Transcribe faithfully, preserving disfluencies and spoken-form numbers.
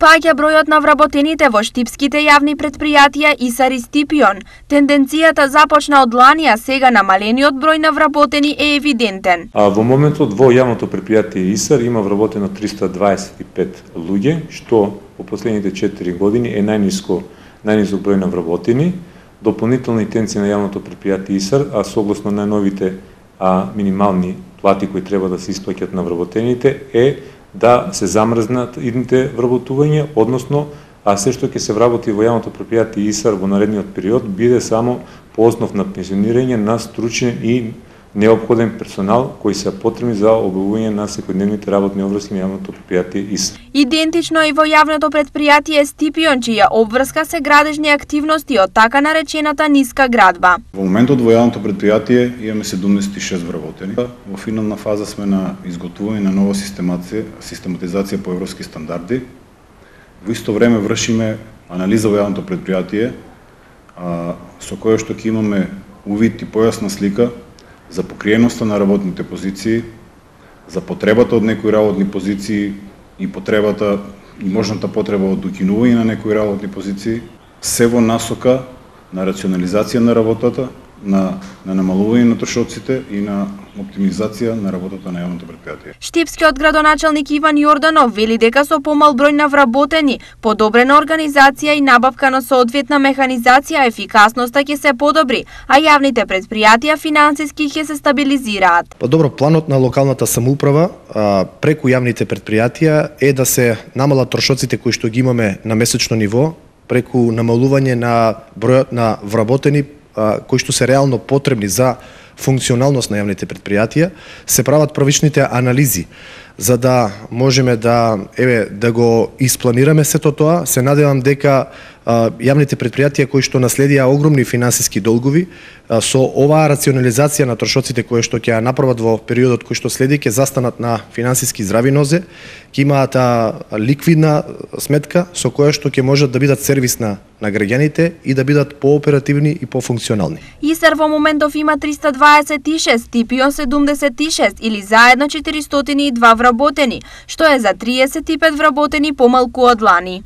Паѓа бројот на вработените во штипските јавни претпријатија ИСАР и Стипион. Тенденцијата започна од лани, а сега намалениот број на вработени е евидентен. А во моментот во јавното претпријатие ИСАР има вработено триста дваесет и пет луѓе, што во последните четири години е најниско најнисок број на вработени. Дополнителна интенција на јавното претпријатие ИСАР, а согласно најновите а, минимални плати кои треба да се исплаќат на вработените е да се замрзнат идните вработувања, односно а се што ќе се вработи во јавното претпријатие ИСАР во наредниот период биде само по основ на пензионирање на стручен и неопходен персонал кои се потребни за обавување на секојдневните работни обврски на јавното претпријатие ИСАР. Идентично и во јавното претпријатие Стипион, чија обврска се градежни активности од така наречената ниска градба. Во моментот во јавното претпријатие имаме седумдесет и шест вработени. Во финална фаза сме на изготвување на нова систематизација, систематизација по европски стандарди. Во исто време вршиме анализа во јавното претпријатие, а, со која што ќе имаме увид и појасна слика за покриеноста на работните позиции, за потребата од некои работни позиции и потребата и можната потреба од укинување на некои работни позиции, се во насока на рационализација на работата, на, на намалување на трошоците и на оптимизација на работата на јавното претпријатие. Штипскиот градоначалник Иван Јорданов вели дека со помал број на вработени, подобрена организација и набавка на соодветна механизација, ефикасноста ќе се подобри, а јавните претпријатија финансиски ќе се стабилизираат. Па добро, планот на локалната самоуправа а, преку јавните претпријатија е да се намалат трошоците кои што ги имаме на месечно ниво, преку намалување на бројот на вработени кои што се реално потребни за функционалност на јавните претпријатија, се прават првичните анализи за да можеме да еве да го испланираме сето тоа. Се надевам дека а, јавните претпријатија кои што наследија огромни финансиски долгови а, со оваа рационализација на трошоците кои што ќе ја направат во периодот кој што следи, ќе застанат на финансиски здрави нозе, ќе имаат а, ликвидна сметка со која што ќе можат да бидат сервис на на граѓаните и да бидат пооперативни и пофункционални. ИСАР во моментов има триста дваесет и шест, Стипион седумдесет и шест или заедно четиристотини и два вработени, што е за триесет и пет вработени помалку од лани.